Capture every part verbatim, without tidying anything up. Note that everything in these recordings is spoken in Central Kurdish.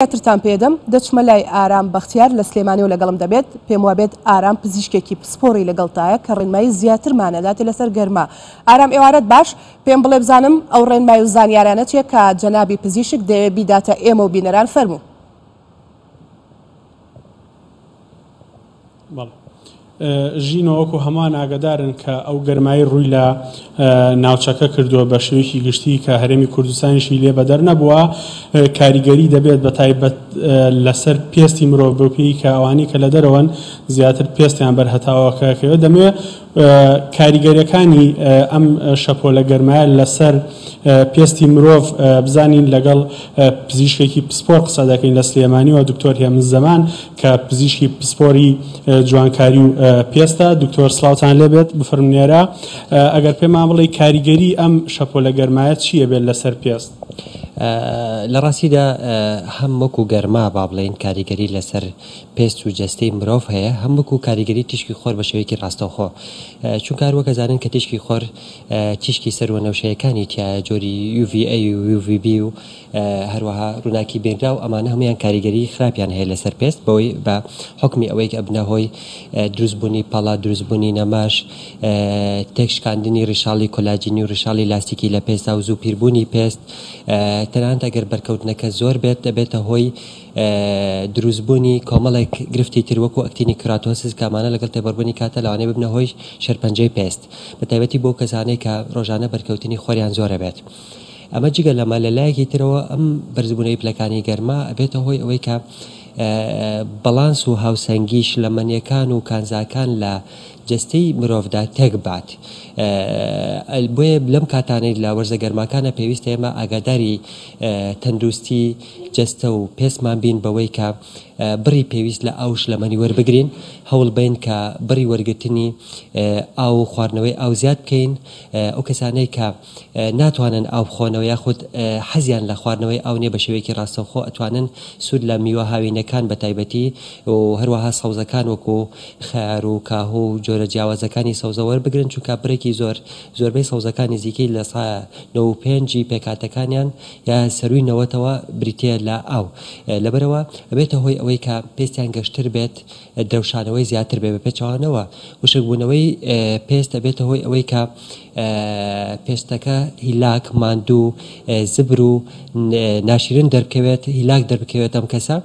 زیاترتان پێدەم دەچمە لای ئارام بەختیار لە سلێمانی و لەگەڵم دەبێت. پێم وابێت ئارام پزیشکێکی پسپۆڕی لەگەڵتایە کە ڕێنمایی زیاترمانەداتێ لەسەر گەرما. ئارام ئێوارەت باش، پێم بڵێ بزانم ئەو ڕێنمایی و زانیارانە چیە کە جەنابی پزیشک دەیەوێت بیداتە ئێمە و بینەران؟ فەرموو. بەڵێ ژینەوە وەکو هەمان ئاگادارن کە ئەو گەرمایی ڕووی لە ناوچەکە کردووە بە شێوەیەکی گشتی کە هەرێمی کوردستانیشی لێ بەدەر نەبووە، کاریگەری دەبێت بە تایبەت لەسەر پێستی مرۆڤ بەو پێی کە ئەوانەی کە لە دەرەوەن زیاتر پێستیان بەرهەتاوەکەکەوێت. دەمەوێت کاریگەریەکانی ئەم شەپۆلە گەرمایە لەسەر پێستی مرۆڤ بزانین. لەگەڵ پزیشکێکی پسپۆر قسە دەکەین لە سلێمانی و دکتۆر هێمن زەمان کە پزیشکی پسپۆری جوانکاری و پێستە. دکتۆر سڵاوتان لێبێت، بفەرمونێرە ئەگەر پێمان بڵێ کاریگەری ئەم شەپۆلە گەرمایە چییە بێت لەسەر پێست؟ لە ڕاستیدا هەم وەکو گەرما با بڵێین کاریگەری لەسەر پێست و جەستەی مرۆڤ هەیە، هەم وەکو کاریگەری تیشکی خۆر بە شێوەیەکی ڕاستەوخۆ، چونکە هەر وەکە زانن کە تیشکی خۆر تیشکی سەروەنەوشەیەکانی تایە، جۆری U V A و U V B و هەروەها ڕووناکی بێنراو، ئەمانە هەمویان کاریگەری خراپیان هەیە لەسەر پێست، بەوەی بە حکمی ئەوەی کە ئەبنە هۆی دروستبوونی پەڵە، دروستبوونی نەماش، تێکشکاندنی ڕیشاڵی کۆلاجینی و ڕیشاڵی لاستیکی لە پێستا و زوو پیربوونی پێست. تەنانەت ئەگەر بەرکەوتنەکە زۆر بێت دەبێتە هۆی دروستبوونی کۆمەڵێک گرفتی تر وەکو actinic keratosis کە ئەمانە لەگەڵ تێبەربوونی کاتە لەوانەیە ببنە هۆی شێرپەنجەی پێست، بە تایبەتی بۆ کەسانەی کە ڕۆژانە بەرکەوتنی خۆریان زۆرە بێت. ئەمە جگە لەمە لە لایەکی ترەوە ئەم بەرزبوونەوەی پلەکانی گەرما ئەبێتە هۆی ئەوەی کە بەڵانس و هاوسەنگی شلەمەنیەکان و کانزاکان لە جەستەی مرۆڤدا تێک بات. بۆیە لەم کاتانەی لە وەرزە گەرماکانە پێویستە ئێمە ئاگاداری تەندروستی جەستە و پێستمان بین بەوەی کە بڕی پێویست لە ئاو شلەمەنی وەربگرین، هەوڵ بین کە بڕی وەرگرتنی ئاو و خواردنەوەی ئاو زیاد بکەین. ئەو کەسانەی کە ناتوانن ئاو بخۆنەوە یاخود حەزیان لە خواردنەوەی ئاو نییە بە شێوەیەکی ڕاستەوخۆ ئەتوانن سوود لە میوە هاوینەکان بە تایبەتی و هەروەها سەوزەکان وەکو خەیار و کاهو و جۆرە جیاوازەکانی سەوزە وەربگرن، چونکە بڕێکی زۆر زۆربەی سەوزەکان نزیکەی لە سا نەوە و پێنجی پێکهاتەکانیان یا سەروی نەوەتەوە بریتە لە ئاو. لەبەرەوە ئەبێتە هۆی ئەوەی کە پێستیان گەشتر بێت، درەوشانەوەی زیاتر بێت. بە پێچەوانەوە وشکبوونەوەی پێست ئەبێتە هۆی ئەوەی کە پێستەکە هیلاک، ماندوو، زبر و ناشیرن دەربکەوێت، هیلاک دەربکەوێت ئەم کەسە.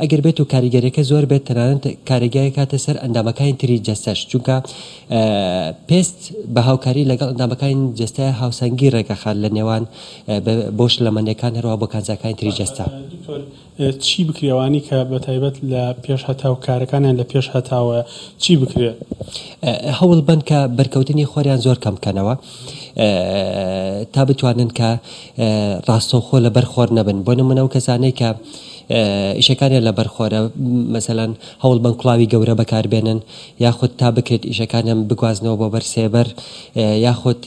ئەگەر بێت و کاریگەریەکە زۆر بێت تەنانەت کاریگەری کاتە سەر ئەندامەکانی تری جەستەش، چونکە پێست بە هاوکاری لەگەڵ ئەندامەکانی جەستە هاوسەنگی ڕێگەخات لە نێوان بۆ شلەمەنیەکان هەروەها بۆ کانزاکانی تری جەستە. دکتۆر چی بکرێوانی کە بە تایبەت لە پێش هەتاو کارەکانیان لە پێش هەتاوە چی بکرێ؟ هەوڵ بن کە بەرکەوتنی خۆریان زۆر کەم بکەنەوە تا بتوانن کە ڕاستەوخۆ لەبەر خۆر نەبن. بۆ نمونە ئەو کەسانەی کە ئیشەکانیان لەبەر خۆرە مەسەلەن هەوڵ بن کوڵاوی گەورە بەکاربێنن، یاخود تا بکرێت ئیشەکانیان بگوازنەوە بۆ بەر سێبەر، یاخود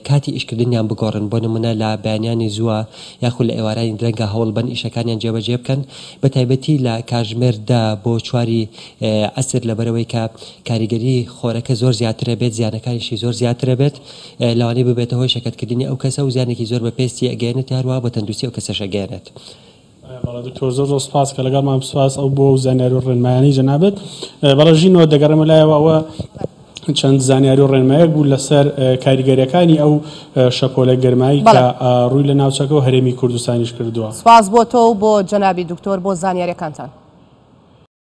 کاتی ئیشکردنیان بگۆڕن. بۆ نمونە لە بەیانیانی زووە یاخود لە ئێوارانی درەنگە هەوڵ بن ئیشەکانیان جێبەجێ بکەن، بە تایبەتی لە کاژمێردا بۆ چواری عەسر، لەبەرەوەی کە کاریگەری خۆرەکە زۆر زیاترە بێت، زیانەکانیشی زۆر زیاترە بێت، لەوانەیە ببێتە هۆی شەکەتکردنی ئەو کەسە و زیانێکی زۆر بە پێستی ئەگەیەنێت، هەروەها بە تەندروستی ئەو کەسەش ئەگەیەنێت. بەڵێ دکتۆر زۆر زۆر سپاس کە لەگەڵمان، سپاس ئەو بۆ زانیاری و ڕێنمایانی جەنابت. بەڵێ ژینەوە دەگەڕێمە لایەوە، ئەوە چەند زانیاری و ڕێنمایەک بوو لەسەر کاریگەریەکانی ئەو شەپۆلە گەرمایی کە ڕووی لە ناوچەکە و هەرێمی کوردستانیش کردووە. سپاس بۆ تۆ و بۆ جەنابی دکتۆر بۆ زانیاریەکانتان.